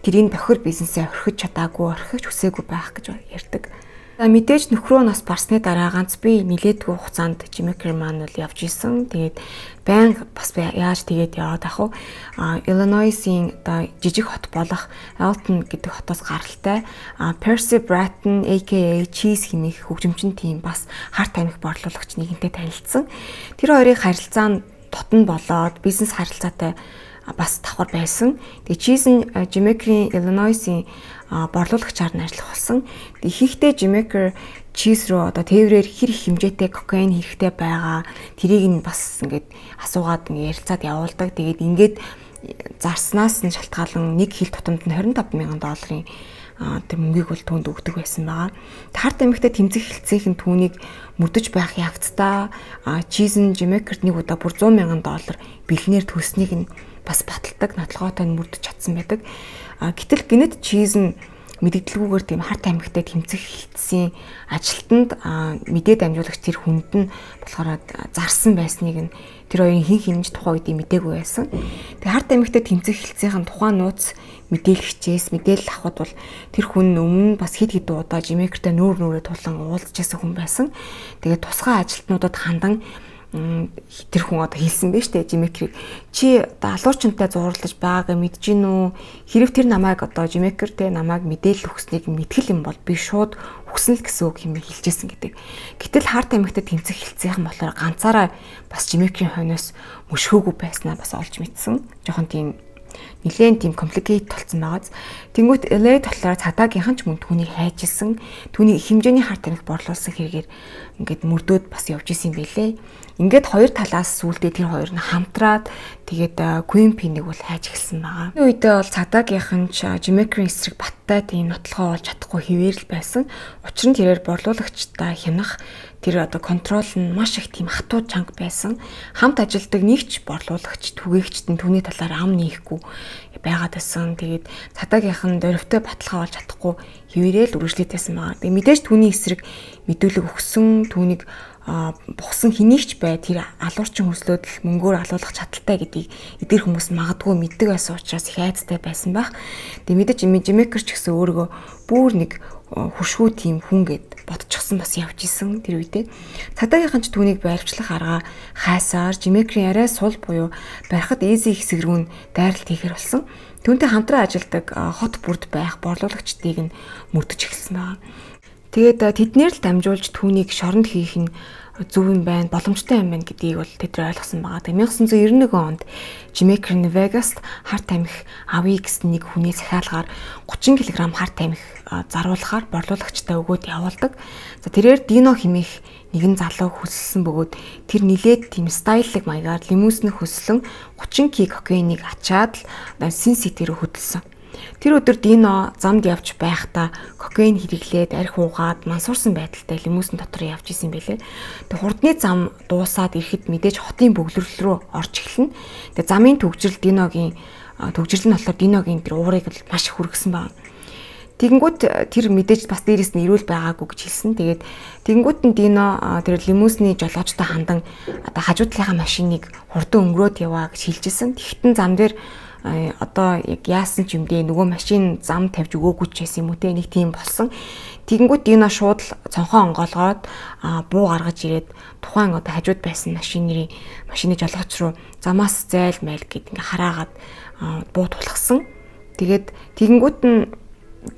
тэрийн бохир бизнесээ орхиж чадаагүй, орхиж хүсээгүй байх гэж ярьдаг. За мэдээж нөхрөө нас барсны дараа ганц би нилээдгүй хугацаанд Жимекер маань л явж исэн. Тэгээд байнга бас яаж тэгээд яваад ах вэ? Illinois-ийн одоо жижиг хот болох Alton гэдэг хотоос гаралтай Percy Bratton aka Cheese хэмээх хөгжимчин тим бас хар тамхи борлуулагч нэгэнтэй танилцсан. Тэр хоёрын харилцаа нь тотон болоод бизнес харилцаатай бас давхар байсан. Тэгээ Cheese нь Жимекерийн Illinois-ийн борлуулагчаар нь ажиллах болсон. Тэгээ ихэнхдээ Жимекер Cheese руу одоо тээврээр хэр их хэмжээтэй кокаин хэрэгтэй байгаа тэрийг нь бас ингээд асуугаад ингээд ярилцаад явуулдаг. Тэгээд ингээд зарснаас нь шалтгаалan нэг хил тутамд нь двадцать пять мянган долларын тэр мөнгийг бол түүнд өгдөг байсан байгаа. Хар тамхитай тэмцэх хэлцээх нь түүнийг мөрдөж байх ягцтай Cheese нь Жимекерт нэг удаа бүр сто мянган доллар бэлнээр төлснийг нь бас баталдаг, нотлогоотой нь мөрдөж чадсан байдаг. Гэтэл гинэт Cheese нь мэдэгдэлгүйгээр тийм хар тамхитай тэмцэх хэлтсийн ажилтнанд мэдээд амжуулагч тэр хүнд нь болохоор зарсан байсныг нь тэр хоёрын хин хинж тухайн үед мэдээгүй байсан. Тэгээ хар тамхитай тэмцэх хэлтсийн тухайн нууц мэдээлэгчээс мэдээлэл авахд бол тэр хүн өмнө бас хэд хэд удаа Жимекертэй нүүр нүрээ тулан уулзж байсан хүн байсан. Тэгээ тусгай ажилтнуудад хандан тэр хүн одоо хэлсэн байж тээ Жимекерийг чи одоо алуурчантай зурлаж байгааг мэдэж гин үү? Хэрэг тэр намайг одоо Жимекер тэ намайг мэдээлэл өгснийг мэтгэл юм бол би шууд өгсөн л гэсэн үг юм хэлжсэн гэдэг. Гэтэл хар тамхитай тэмцэх хэлцээхэн болохоор ганцаараа бас Жимекерийн хойноос мөшгөөгүй байснаа бас олж мэдсэн. Жохон тийм нэлээд тийм компликейт толцсон байгааз. Тэнгүүт Л А болохоор цагдаагийнхан ч мөн түүнийг хайжсэн. Түүний их хэмжээний хар тамхи борлуулсан хэрэгээр ингээд мөрдөөд бас явж исэн юм байлээ. Ингээд хоёр талаас сүулдэ тэр хоёр нь хамтраад тэгээд Queen P-ийг бол хайж эхэлсэн байгаа. Энэ үедээ бол цагдаагийнхан ч Жимекерийн эсрэг баттай тийм нотлохоо олж чадахгүй хэвээр л байсан. Учир нь тэрээр борлуулагчтай хянах тэр одоо контрол нь маш их тийм хатуу чанга байсан. Хамт ажилдаг нэгч борлуулагч түгээгчт нь түүний талаар ам нээхгүй байгаад байсан. Тэгээд цагдаагийнхан дөрөвтэй баталгаа олж чадахгүй хэвээрээ л үргэлжлүүлсэн байгаа. Тэгээд мэдээж түүний эсрэг мэдүүлэг өгсөн, түүнийг бухсан хэнийгч бай тэр алуурчин хөслөөд л мөнгөөр алуулах чадaltaй гэдгийг эдгээр хүмүүс магадгүй мэддэг байсан учраас их айцтай байсан байх. Тэгээ мэдээж Жимекер ч гэсэн өөрийгөө бүр нэг хуршгүй тийм хүн гэд бодчихсон бас явж исэн тэр үедээ. Цагдаагийнхан ч түүнийг байрчлах арга хайсаар Жимекерийн арай сул буюу барихад easy хэсэг рүү дайралт хийхэр болсон. Түүнтэй хамтран ажилладаг хот бүрд байх борлуулагчдыг нь мөрдөж эхэлсэн байна. Тэгээд тэднэр л дамжуулж түүнийг шоронд хийх нь зөв юм байна, боломжтой юм байна гэдгийг бол тэд ойлгосон байгаа. Тэгээд найман девятьсот девяносто один онд Жимекер нь Вегаст хар тамхи авъя гэсэн нэг хүний захиалгаар тридцать килограмм хар тамхи заруулахаар борлуулагчтай өгөөд явуулдаг. За тэрээр Дино хэмээх нэгэн залуу хөсөлсөн бөгөөд тэр нилээд тийм стайллэг маягаар лимузин хөслөн тридцать кг кокаиныг ачаад л Син Сити рүү хөдөлсөн. Тэр өдөр Дино замд явж байхдаа кокаин хэрэглээд арх уугаад мансуурсан байдалтай лимузин дотор явж исэн байлээ. Тэг хурдны зам дуусаад ирэхэд мэдээж хотын бөглөрөл рүү орж эхэлнэ. Тэг замын төгжрөл Диногийн төгжрөл нь болохоор Диногийн тэр уурыг маш их хүргэсэн байна. Тэгэнгүүт тэр мэдээж бас дээрээс нь ирүүл байгаагүй гэж хэлсэн. Тэгээд тэгэнгүүт нь Дино тэр лимузины жолоочтой хандан одоо хажуу талынхаа машиныг хурдан өнгөрөөд яваа гэж хэлжсэн. Тэгэхдээ зам дээр одоо яг яасан ч юм дээ нөгөө машин зам тавьж өгөөгүй ч байсан юм уу те нэг тийм болсон. Тэгэнгүүт Дино шууд л цонхоо онгоолгоод буу гаргаж ирээд тухайн одоо хажууд байсан машины машины жолооч руу замаас зайл майл гэд ингээ хараагаад буу тулгсан. Тэгээд тэгэнгүүт нь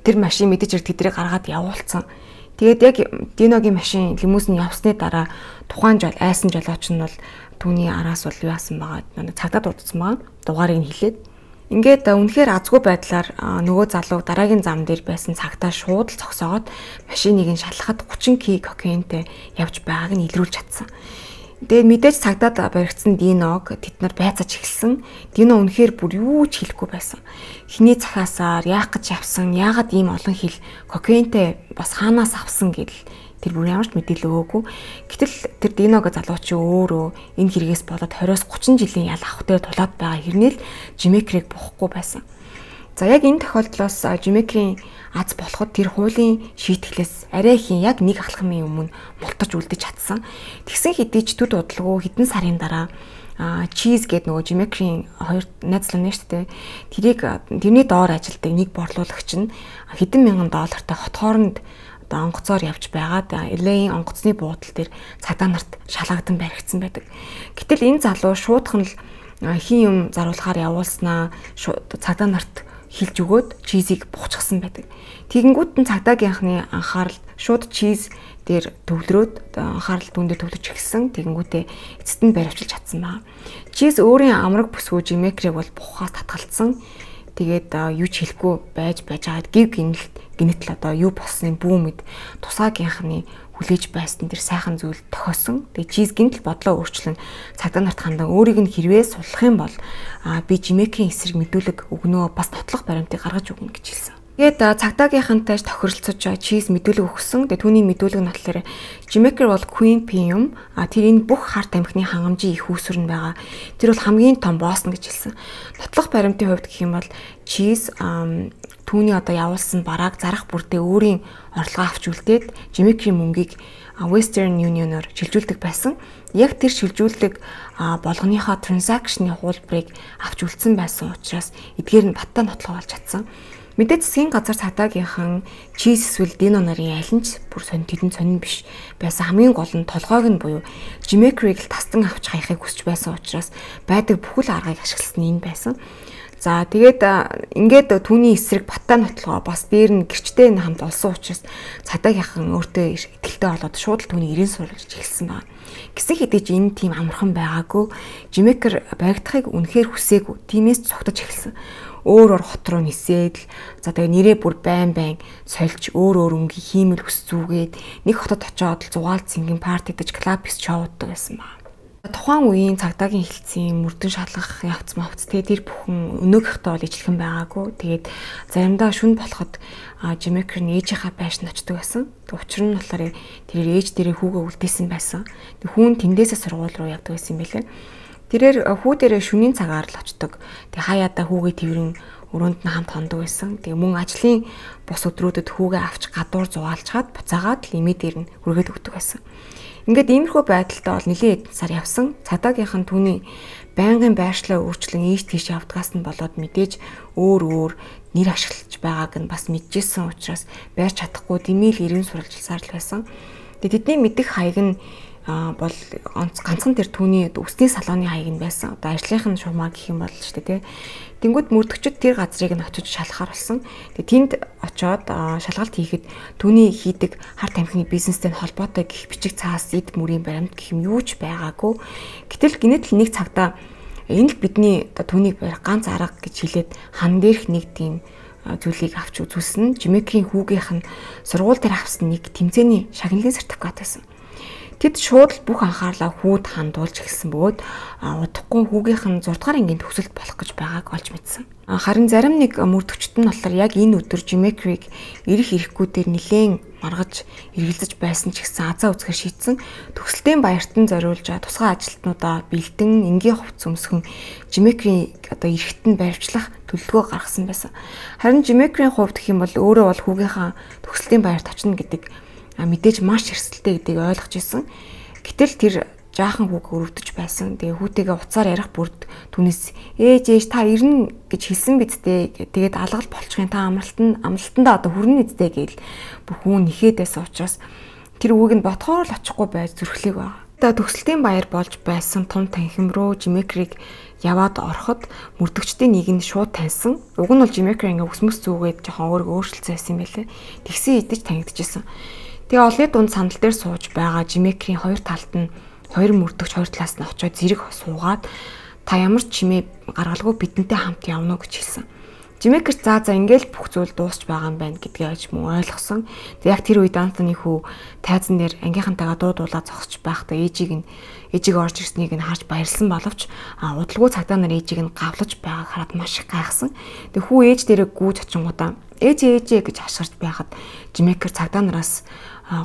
тэр машин мэдээж тэдрийг гаргаад явуулсан. Тэгээд яг Диногийн машин лимузин явсны дараа тухайн жол айсан жолооч нь бол түүний араас бол юу яасан байгаа цагдаа дуудсан байгаа. Дугаарыг нь хэлээд ингээд үнэхээр азгүй байдлаар нөгөө залуу дараагийн зам дээр байсан цагдаа шууд л зогсоогоод машиныг нь шалгахад гучин кг кокаинтэй явж байгааг нь илрүүлж чадсан. Тэгээд мэдээж цагдаад баригдсан Диног тэд нар байцааж эхэлсэн. Дино үнэхээр бүр юу ч хэлэхгүй байсан. Хиний цахаасаар яах гэж явсан, яагаад ийм олон хил кокаинтэй бас хаанаас авсан гэдэл тэр бүр ямар ч мэдээлэл өгөөгүй. Гэтэл тэр Диного залуу чи өөрөө энэ хэрэгээс болоод двадцать гучин жилийн ял авахтай тулаад байгаа хэрнээл Жимекрийг буухгүй байсан. За яг энэ тохиолдлоос Жимекрийн аз болоход тэр хуулийн шийтгэлээс арай ихэн яг нэг алхмын өмнө мултаж үлдэж чадсан. Тэгсэн хэдий ч төд удалгүй хэдэн сарын дараа чиз гэдэг нөгөө Жимекрийн хоёр найзлаа нэ штэ. Тэрийг тэрний доор ажилдаг нэг борлуулагч нь хэдэн мянган доллартай хот хооронд одоо онгоцоор явж байгаад эл эй-ийн онгоцны буудал дээр цагдаа нарт шалгагдан баригдсан байдаг. Гэтэл энэ залуу шуудхан л хин юм заруулахаар явуулснаа цагдаа нарт хилж өгөөд чизийг буучгсан байдаг. Тэгэнгүүт нь цагдаагийнхны анхаарал шууд чиз дээр төвлөрөөд анхаарал түүндээ төвлөж эхэлсэн. Тэгэнгүүтээ эцэст нь баривчилж чадсан байна. Чиз өөрийн амраг бүсгүй Жимекрийг бол бухаас татгалцсан. Тэгээд юу ч хэлэхгүй байж байж хаад гів гинэлт гинэтл одоо юу болсныг бүү мэд тусаагийнхны хүлээж байсан тэр сайхан зүйл тохиосон. Тэгээ чиз гинтл бодлоо өөрчлөн цагдаа нарт хандан өөрийг нь хэрвээ суллах юм бол би Жимекрийн эсрэг мэдүүлэг өгнөө бас нотлох баримтыг гаргаж өгнө гэж хэлсэн. Тэгээд цагдаагийнхантай тохиролцож чиз мэдүүлэг өгсөн. Тэгээ түүний мэдүүлэг нь болохоор Жимекер бол Queen P юм. А тэр энэ бүх харт амхны хангамжийн их үүсвэр нь байгаа. Тэр бол хамгийн том босс нь гэж хэлсэн. Нотлох баримтын хувьд гэх юм бол чиз түүний одоо явуулсан барааг зарах бүртээ өөрийн орлогоо авч үлдээд Жимекерийн мөнгийг Western Union-оор шилжүүлдэг байсан. Яг тэр шилжүүлдэг болгоныхоо транзакшны хуулбарыг авч үлдсэн байсан учраас эдгээр нь баттай нотлох болж чадсан. Мэдээж засгийн газар цагдаагийнхан чиз эсвэл Дино нарын аль нь ч бүр сонь тэдэн сонин биш байсан хамгийн гол нь толгойг нь буюу Жимекерийг л тастан авч хаяхыг хүсэж байсан учраас байдаг бүхэл аргыг ашигласан энэ байсан. За тэгээд ингээд түүний эсрэг баттай нотлогоо бас дээр нь гэрчтэй нь хамт олсон учраас цагдаагийнхан өөртөө итгэлтэй болоод шууд л түүний ирэн суулгаж эхэлсэн байна. Гэсэн хэдий ч энэ тийм амархан байгаагүй Жимекер баригдахыг үнэхээр хүсээгүй. Тиймээс цогтож эхэлсэн. Өөр өөр хот руу нисээд л за тэгээ нэрээ бүр байн байн сольж өөр өөр өнгийн хиймэл хүс зүгээд нэг хотод очиод л зугаалт сингийн партидж клуб бис шоуддаг байсан ба. Тухайн үеийн цагдаагийн хэлтсийн мөрдөн шалгах явц мавц тэгээ тэр бүхэн өнөөгийнхтэй бол ижлэхэн байгаагүй. Тэгээд заримдаа шүн болоход Жимекер нь ээжийнхаа байшин очдог байсан. Тэг учир нь болохоор тэр ээж дээрээ хүүгээ үлдээсэн байсан. Тэг хүүн тэндээсээ сургууль руу явдаг байсан юм байлээ. Тэрээр хүү дээрээ шөнийн цагаар л очдог. Тэг хаяада хүүгээ тэрэн өрөөнд нь хамт хондог байсан. Тэг мөн ажлын бус өдрүүдэд хүүгээ авч гадуур зугаалчаад буцаагаад л эмээ дээр нь хүргээд өгдөг байсан. Ингээд иймэрхүү байдалтай бол нэлээд сар явсан. Цагдаагийнхан түүний байнгын байршлаа өөрчлөн ийш тийш явдгаас нь болоод мэдээж өөр өөр нэр ашиглаж байгааг нь бас мэдчихсэн учраас байрч чадахгүй дэмийл ирэн суралжилсаар л байсан. Тэгээд тэдний мэдих хаяг нь бол ганцхан тэр түүний өсний салооны хаяг нь байсан. Одоо ажлынх нь шугамар гэх юм бол ч тийм. Тэнгүүд мөрдөгчд тэр газрыг нь очиж шалгахаар болсон. Тэгээ тэнд очоод шалгалт хийхэд түүний хийдэг харт амхны бизнестэй холбоотой гих бичиг цаас эд мөрийн баримт гэх юм юу ч байгаагүй. Гэтэл гинэт л нэг цагтаа энэ л бидний одоо түүнийг барих ганц арга гэж хэлээд хан дээрх нэг тийм зүйлийг авч үзүүлсэн. Жимекерийн хүүгийнх нь сургууль дээр авсан нэг тэмцээний шагналын сертификат байсан. Тэд шууд бүх анхаарлаа хүүд хандуулж эхэлсэн бөгөөд удахгүй хүүгийнх нь зураг дахь ангийн төгсөлт болох гэж байгааг олж мэдсэн. Харин зарим нэг мөрдөгчд нь болохоор яг энэ өдөр Жимекрийг ирэх ирэхгүйдээр нэлээд маргаж эргэлзэж байсан ч гэсэн азаа үзэхээр шийдсэн. Төгсөлтийн баярт нь зориулж тусгай ажилтнуудаа бэлдэн энгийн хувцас өмсгөн Жимекрийн одоо ирэхт нь баривчлах төлөвлөгөө гаргасан байсан. Харин Жимекрийн хувьд гэх юм бол өөрөө бол хүүгийнхаа төгсөлтийн баярт очно гэдэг мэдээж маш эрсдэлтэй гэдгийг ойлгож ирсэн. Гэтэл тэр жаахан хүүг өрөвдөж байсан. Тэгээ хүүтэйгээ уцаар ярих бүрд түүнээс ээж ээж та ирнэ гэж хэлсэн бидтэй. Тэгээд алгал болчихын та амралтанд амралтандаа одоо хүрнэ үстэй гээл бүр хүн нэхэд байсан учраас тэр хүүг нь ботхоор л очихгүй байж зүрхлийг байгаа. Одоо төгсөлтийн баяр болж байсан том танхим руу Жимекрийг яваад ороход мөрдөгчдийн нэг нь шууд таньсан. Уг нь бол Жимекри ингээ өсмөс зүгээд жоохон өөрийгөө өөрчилсөн байсан юм байлээ. Тэгсэн идэж танигдчихсэн. Тэгээ олны дунд сандал дээр сууж байгаа Жимекрийн хоёр талд нь хоёр мөрдөгч хоёр талаас нь очиод зэрэг суугаад та ямар ч чимээ гаргалгүй бидэнтэй хамт явна уу гэж хэлсэн. Жимекр за за ингээл бүх зүйл дуусч байгаа юм байна гэдгийг аж мөн ойлгосон. Тэг яг тэр үед Антоны хүү тайзан дээр ангийнхантайгаа дуудуулаа зогсож байхдаа ээжийг нь ээжийг орж ирснийг нь харж баярлсан боловч удалгүй цагдаа нар ээжийг нь гавлаж байгааг хараад маш их гайхсан. Тэг хүү ээж дээрээ гүйж очингуудаа ээж ээжээ гэж хашгирч байхад Жимекр цагдаа нараас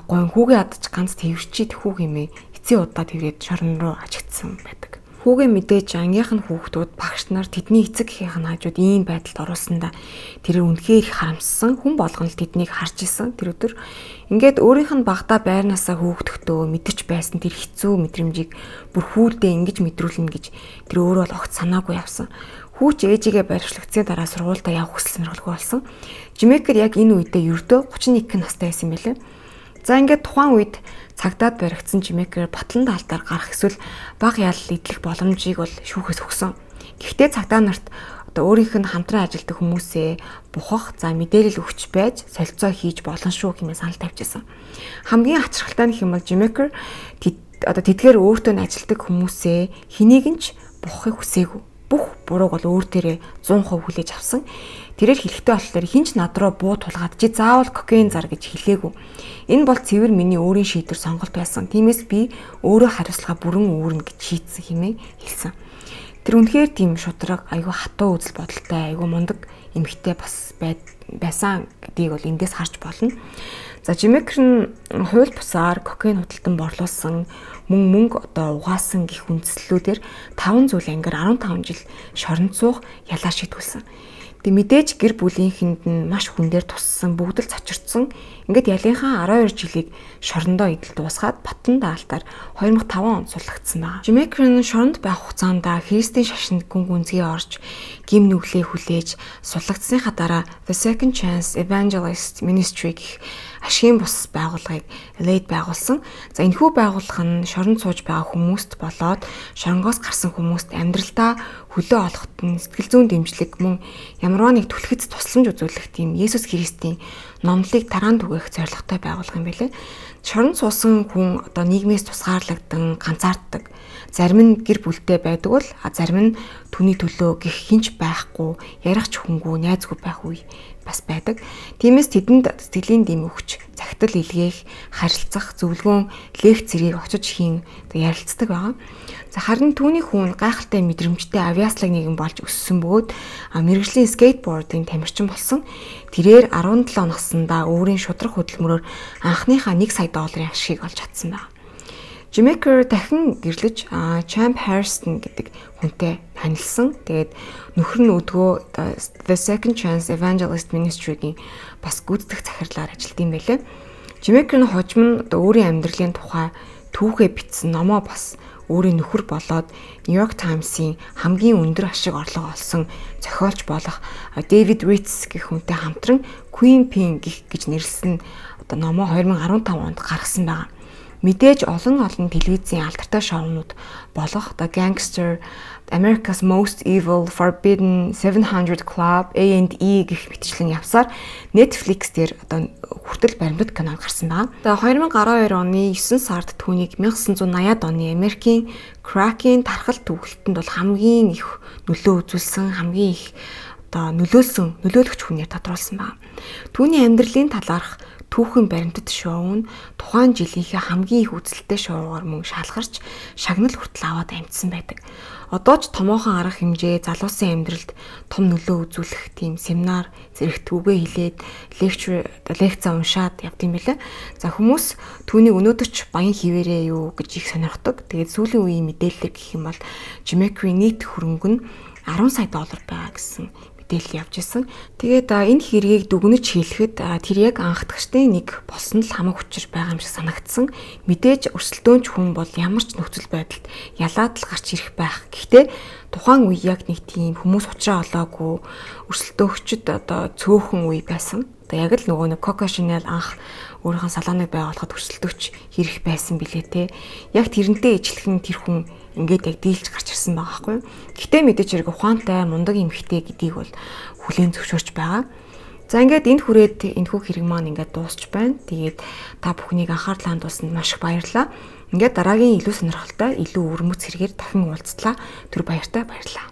гойн хүүгээ адаж ганц твэрчид хүүг юмээ эцсийн удаа тэргээд шорон руу ажигдсан байдаг. Хүүгээ мэдээж ангийнх нь хүүхдүүд багш нар тэдний эцэг эхийн хажууд ийм байдалд оруулсандаа тэр үнэхээр их харамссан. Хүн болгон л тэднийг харж исэн тэр өдөр. Ингээд өөрийнх нь багтаа байрнаасаа хөөгдөхдөө мэдэрч байсан тэр хэцүү мэдрэмжийг бүр хүүлдээ ингэж мэдрүүлнэ гэж тэр өөрөө л огт санаагүй явсан. Хүүч ээжигээ баривчлагдсны дараа сургуультай явах хүсэл сонирхолгүй болсон. Жимекр яг энэ үедээ ердөө гучин нэг настай байсан юм байлээ. За ингээд тухайн үед цагдаад баригдсан Жимекр батлан даалтаар гарах эсвэл баг ялал идэх боломжийг бол шүүхээс өгсөн. Гэхдээ цагдаа нарт одоо өөрийнх нь хамтран ажилладаг хүмүүсээ бухах, за мэдээлэл өгч байж солилцоо хийж болно шүү хэмээн санал тавьчихсан. Хамгийн хачирхалтай нь хэм бол Жимекр одоо тэдгээр өөртөө нь ажилладаг хүмүүсээ хэнийг нь ч бухахыг хүсээгүй. Бүх бурууг бол өөр төрөө зуун хувь хүлээж авсан. Тэрээр хэлэхтэй болохоор хинч над руу буу тулгаад чи заавал кокаин зар гэж хэлээгүй. Энэ бол цэвэр миний өөрийн шийдвэр сонголт байсан. Тиймээс би өөрөө хариуцлага бүрэн үүрнэ гэж шийдсэн хэмээн хэлсэн. Тэр үнэхээр тийм шудраг, айгүй хатуу үзэл бодолтой, айгүй мундаг эмэгтэй бас байсан гэдгийг бол эндээс харж болно. За Жимекр нь хууль бусаар кокаин худалдан борлуулсан, мөн мөнгө одоо угаасан гих үндслүүдээр таван зүйл ангир арван таван жил шоронд суух ялаа шийдүүлсэн. Тэг мэдээж гэр бүлийнхэнд нь маш хүн дээр туссан, бүгд л цочирдсан. Ингээд ялынхаа арван хоёр жилийг шорондоо идэл дуусгаад батлан даалтаар хоёр мың и таван онд суллагдсан байна. Жимекр нь шоронд байх хугацаанд Христийн шашинд гүн гүнзгий орж, гим нүглээ хүлээж суллагдсныхаа дараа The Second Chance Evangelist Ministry гэх ашигын бус байгууллагыг Л Эд байгуулсан. За энэхүү байгууллага нь шоронд сууж байгаа хүмүүст болоод шоронгоос гарсан хүмүүст амьдралдаа хөлөө олоход нь сэтгэл зүйн дэмжлэг мөн ямарваа нэг түлхэц тусламж үзүүлэх тийм Есүс Христийн номлыг тараан түгээх зорилготой байгуулга юм байлээ. Шоронд суусан хүн одоо нийгмээс тусгаарлагдан ганцаарддаг. Зарим нь гэр бүлтэй байдаг бол зарим нь түүний төлөө гих хинч байхгүй, ярих ч хүнгүй, найзгүй байх үе бас байдаг. Тиймээс тэдэнд сэтгэлийн дэм өгч, захидал илгээх, харилцах, зөвлөгөөн, лекц зэргийг очиж хийн ярилцдаг байгаа. За харин түүний хүн гайхалтай мэдрэмжтэй авиаслаг нэгэн болж өссөн бөгөөд мэргэжлийн скейтбордын тамирчин болсон. Тэрээр арван долоо наснда өөрийн шудраг хөдөлмөрөөр анхныхаа нэг сая долларын ашгийг олж чадсан байна. Жимекр дахин гэрлэж Champ Harrison гэдэг хүнтэй танилцсан. Тэгээд нөхөр нь өдгөө The Second Chance Evangelist Ministry-гийн бас гүйцэтгэх захирлаар ажилладаг юм байлээ. Жимекр нь хожим нь өөрийн амьдралын тухай түүхээ бичсэн номоо бас өөрийн нөхөр болоод New York Times-ийн хамгийн өндөр ашиг орлого олсон зохиолч болох David Ritz гэх хүнтэй хамтран Queen Pin гэх гэж нэрлсэн одоо номоо хоёр мың и арван таван онд гаргасан байна. Мэдээж олон олон телевизийн алдартай шоунууд болох The Gangster, America's Most Evil, Forbidden, seven hundred Club, A and E гэх мэтчлэн явсаар Netflix дээр одоо хүртэл баримтат кино гарсан байна. Тэгээ хоёр мың и арван хоёр оны есөн сард түүнийг мянга девятьсот восьмидад оны Америкийн Crack-ийн тархал төвлөлтөнд бол хамгийн их нөлөө үзүүлсэн, хамгийн их одоо нөлөөлсөн, нөлөөлөгч хүнээр тодруулсан байна. Түүний амьдралын талаарх түүхэн баримтат шоу нь тухайн жилийнхээ хамгийн их үзэлттэй шоугаар мөн шалгарч шагнал хүртэл аваад амжсан байдаг. Одоо ч томоохон арга хэмжээ залуусын амьдралд том нөлөө үзүүлэх тийм семинар зэрэг түүгээ хэлээд лекцер лекц уншаад явдсан байлаа. За хүмүүс түүнийг өнөөдөр ч баян хിവэрээ юу гэж их сонирхдог. Тэгээд сүүлийн үеийн мэдээлэл гэх юм бол Жимекри нийт хөрөнгө нь арван сая доллар байгаа гэсэн мэдээлэл явж исэн. Тэгээд энэ хэргийг дүгнэж хэлэхэд тэр яг анхдагчдын нэг болсон л хамаг учир байгаа юм шиг санагдсан. Мэдээж өрсөлдөөнч хүн бол ямар ч нөхцөл байдалд ялаад л гарч ирэх байх. Гэхдээ тухайн үе яг нэг тийм хүмүүс уучраа олоогүй өрсөлдөөгчд одоо цөөхөн үе байсан. Одоо яг л нөгөө нэг Coco Chanel анх өөрийнхөө салоныг байгуулахад өрсөлдөгч хэрэг байсан билээ те. Яг тэрнтэй ижилхэн тэр хүн ингээд яг дийлж гарч ирсэн байгаа байхгүй. Гэтэ мэдээж хэрэг ухаантай мундаг эмэгтэй гэдгийг бол хүлээн зөвшөөрч байгаа. За ингээд энд хүрээд энэхүү хэрэг маань ингээд дуусч байна. Тэгээд та бүхнийг анхаарлаа хандуулсанд маш их баярлалаа. Ингээд дараагийн илүү сонирхолтой, илүү өвөрмөц хэрэгээр дахин уулзлаа. Түр баяртай баярлалаа.